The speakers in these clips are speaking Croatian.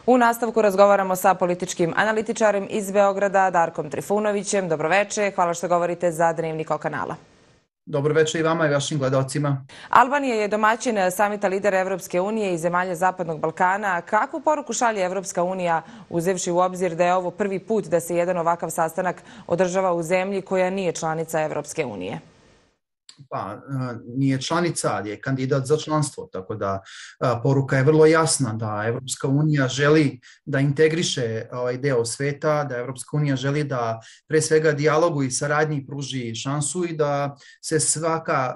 U nastavku razgovaramo sa političkim analitičarem iz Beograda, Darkom Trifunovićem. Dobroveče, hvala što govorite za Dnevnik O kanala. Dobroveče i vama i vašim gledalcima. Albanija je domaćin samita lidera Evropske unije i zemalja Zapadnog Balkana. Kakvu poruku šalje Evropska unija, uzevši u obzir da je ovo prvi put da se jedan ovakav sastanak održava u zemlji koja nije članica Evropske unije? Pa, nije članica, ali je kandidat za članstvo, tako da poruka je vrlo jasna da Evropska unija želi da integriše ovaj deo sveta, da Evropska unija želi da pre svega dijalogu i saradnji pruži šansu i da se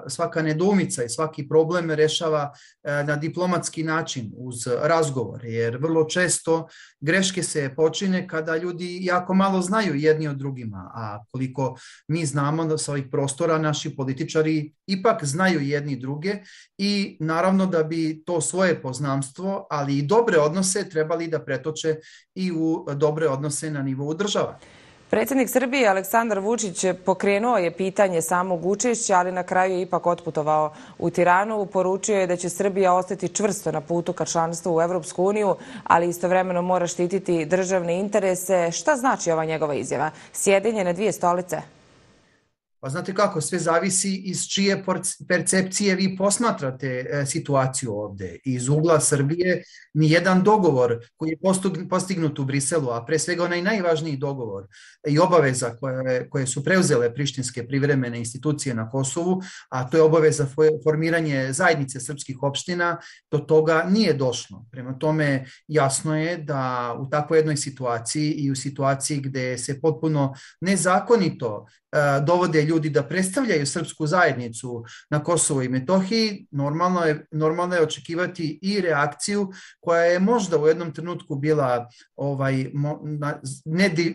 svaka nedoumica i svaki problem rešava na diplomatski način uz razgovor, jer vrlo često greške se počine kada ljudi jako malo znaju jedni od drugima, a koliko mi znamo da sa ovih prostora naši političari ipak znaju jedni druge i naravno da bi to svoje poznanstvo, ali i dobre odnose trebali da pretoče i u dobre odnose na nivou država. Predsjednik Srbije Aleksandar Vučić pokrenuo je pitanje samog učešća, ali na kraju je ipak otputovao u Tiranu. Poručio je da će Srbija ostati čvrsto na putu ka članstvu u Evropsku uniju, ali istovremeno mora štititi državne interese. Šta znači ova njegova izjava? Sjedenje na dvije stolice? Pa znate kako, sve zavisi iz čije percepcije vi posmatrate situaciju ovde. Iz ugla Srbije nijedan dogovor koji je postignut u Briselu, a pre svega onaj najvažniji dogovor i obaveza koje su preuzele prištinske privremene institucije na Kosovu, a to je obaveza formiranje zajednice srpskih opština, do toga nije došlo. Prema tome jasno je da u takvoj jednoj situaciji i u situaciji gde se potpuno nezakonito dovode ljudi da predstavljaju srpsku zajednicu na Kosovu i Metohiji, normalno je očekivati i reakciju koja je možda u jednom trenutku bila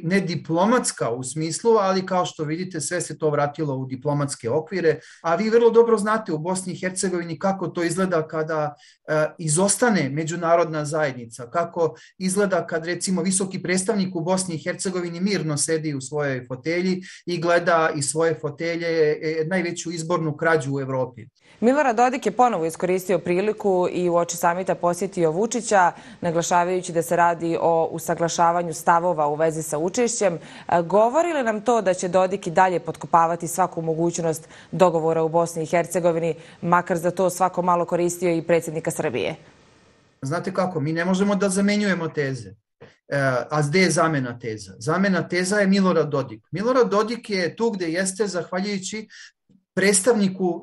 ne diplomatska u smislu, ali kao što vidite sve se to vratilo u diplomatske okvire, a vi vrlo dobro znate u Bosni i Hercegovini kako to izgleda kada izostane međunarodna zajednica, kako izgleda kad recimo visoki predstavnik u Bosni i Hercegovini mirno sedi u svojoj fotelji i gleda iz svoje fotelje najveću izbornu krađu u Evropi. Milorad Dodik je ponovo iskoristio priliku i uoči samita posjetio Vučića, naglašavajući da se radi o usaglašavanju stavova u vezi sa učešćem. Govori li nam to da će Dodik i dalje potkopavati svaku mogućnost dogovora u Bosni i Hercegovini, makar za to svako malo koristio i predsjednika Srbije? Znate kako, mi ne možemo da zamenjujemo teze. A gde je zamena teza? Zamena teza je Milorad Dodik. Milorad Dodik je tu gde jeste zahvaljujući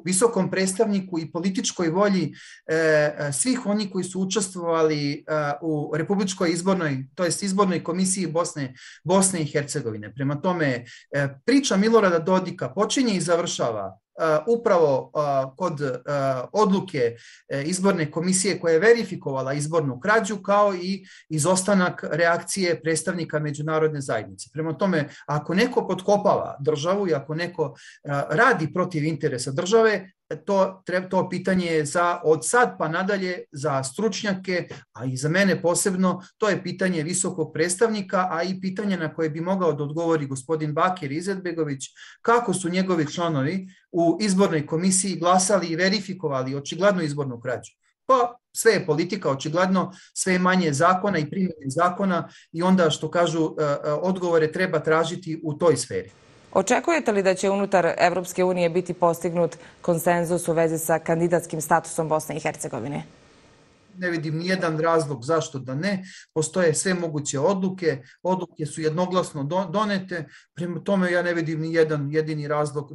visokom predstavniku i političkoj volji svih oni koji su učestvovali u Republičkoj izbornoj, to jest izbornoj komisiji Bosne i Hercegovine. Prema tome, priča Milorada Dodika počinje i završava upravo kod odluke izborne komisije koja je verifikovala izbornu krađu, kao i izostanak reakcije predstavnika međunarodne zajednice. Prema tome, ako neko potkopava državu i ako neko radi protiv interesa države, to pitanje je od sad pa nadalje za stručnjake, a i za mene posebno, to je pitanje visokog predstavnika, a i pitanje na koje bi mogao da odgovori gospodin Bakir Izetbegović, kako su njegovi članovi u izbornoj komisiji glasali i verifikovali očiglednu izbornu krađu. Pa sve je politika, očigledno, sve je manje zakona i primjene zakona i onda što kažu odgovore treba tražiti u toj sferi. Očekujete li da će unutar Evropske unije biti postignut konsenzus u vezi sa kandidatskim statusom Bosne i Hercegovine? Ne vidim nijedan razlog zašto da ne. Postoje sve moguće odluke. Odluke su jednoglasno donete. Prema tome ja ne vidim nijedan jedini razlog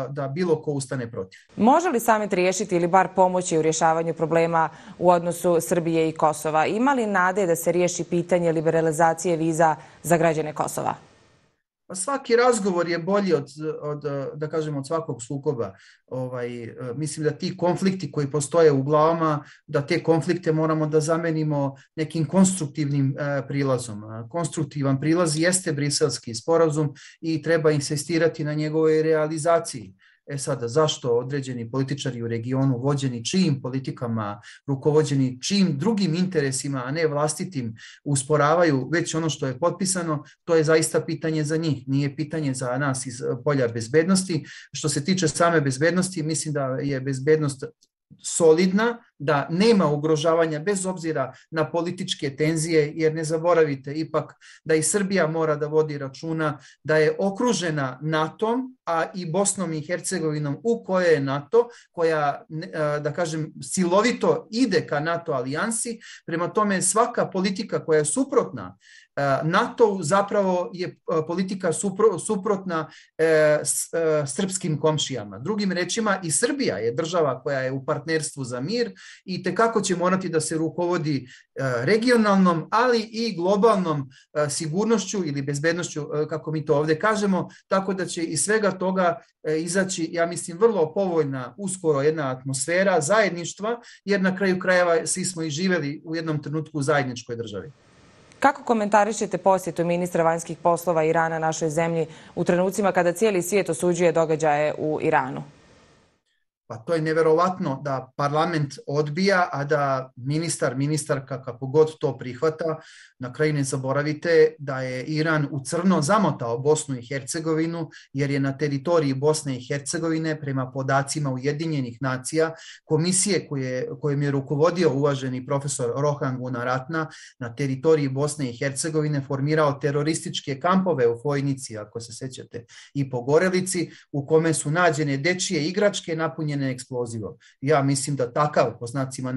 da bilo ko ustane protiv. Može li samit riješiti ili bar pomoći u rješavanju problema u odnosu Srbije i Kosova? Ima li nade da se riješi pitanje liberalizacije viza za građane Kosova? Pa svaki razgovor je bolji da kažem, od svakog sukoba. Mislim da ti konflikti koji postoje u glavama, da te konflikte moramo da zamenimo nekim konstruktivnim prilazom. Konstruktivan prilaz jeste Briselski sporazum i treba insistirati na njegovoj realizaciji. Sada, zašto određeni političari u regionu vođeni čijim politikama, rukovođeni čijim drugim interesima, a ne vlastitim, usporavaju već ono što je potpisano, to je zaista pitanje za njih, nije pitanje za nas iz polja bezbednosti. Što se tiče same bezbednosti, mislim da je bezbednost solidna, da nema ugrožavanja bez obzira na političke tenzije, jer ne zaboravite ipak da i Srbija mora da vodi računa da je okružena NATO-om, a i Bosnom i Hercegovinom u kojoj je NATO, koja, da kažem, silovito ide ka NATO alijansi. Prema tome, svaka politika koja je suprotna NATO zapravo je politika suprotna srpskim komšijama. Drugim rečima, i Srbija je država koja je u partnerstvu za mir i tekako će morati da se rukovodi regionalnom, ali i globalnom sigurnošću ili bezbednošću, kako mi to ovdje kažemo, tako da će iz svega toga izaći, ja mislim, vrlo povoljna uskoro jedna atmosfera zajedništva, jer na kraju krajeva svi smo i živjeli u jednom trenutku u zajedničkoj državi. Kako komentarišete posjetu ministra vanjskih poslova Irana našoj zemlji u trenucima kada cijeli svijet osuđuje događaje u Iranu? Pa to je neverovatno da parlament odbija, a da ministarka, kako god to prihvata. Na kraju ne zaboravite da je Iran u crno zamotao Bosnu i Hercegovinu, jer je na teritoriji Bosne i Hercegovine, prema podacima Ujedinjenih nacija, komisije kojim je rukovodio uvaženi profesor Rohan Gunaratna, na teritoriji Bosne i Hercegovine formirao terorističke kampove u Fojnici, ako se sećate, i Pogorelici, u kome su nađene dečije igračke napunjene eksplozivom. Ja mislim da takav, po znacima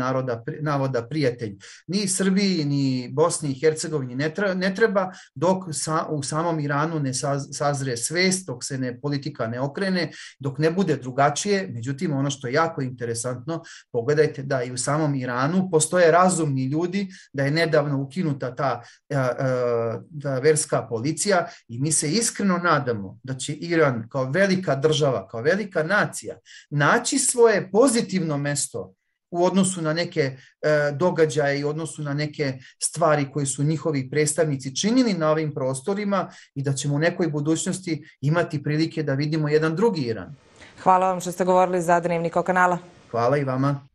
navoda, prijatelj ni Srbiji ni Bosni i Hercegovini ne treba, dok u samom Iranu ne sazre svest, dok se politika ne okrene, dok ne bude drugačije. Međutim, ono što je jako interesantno, pogledajte da i u samom Iranu postoje razumni ljudi, da je nedavno ukinuta ta verska policija i mi se iskreno nadamo da će Iran kao velika država, kao velika nacija naći svoje pozitivno mesto u odnosu na neke događaje i u odnosu na neke stvari koje su njihovi predstavnici činili na ovim prostorima i da ćemo u nekoj budućnosti imati prilike da vidimo jedan drugi Iran. Hvala vam što ste govorili za Dnevnik O kanala. Hvala i vama.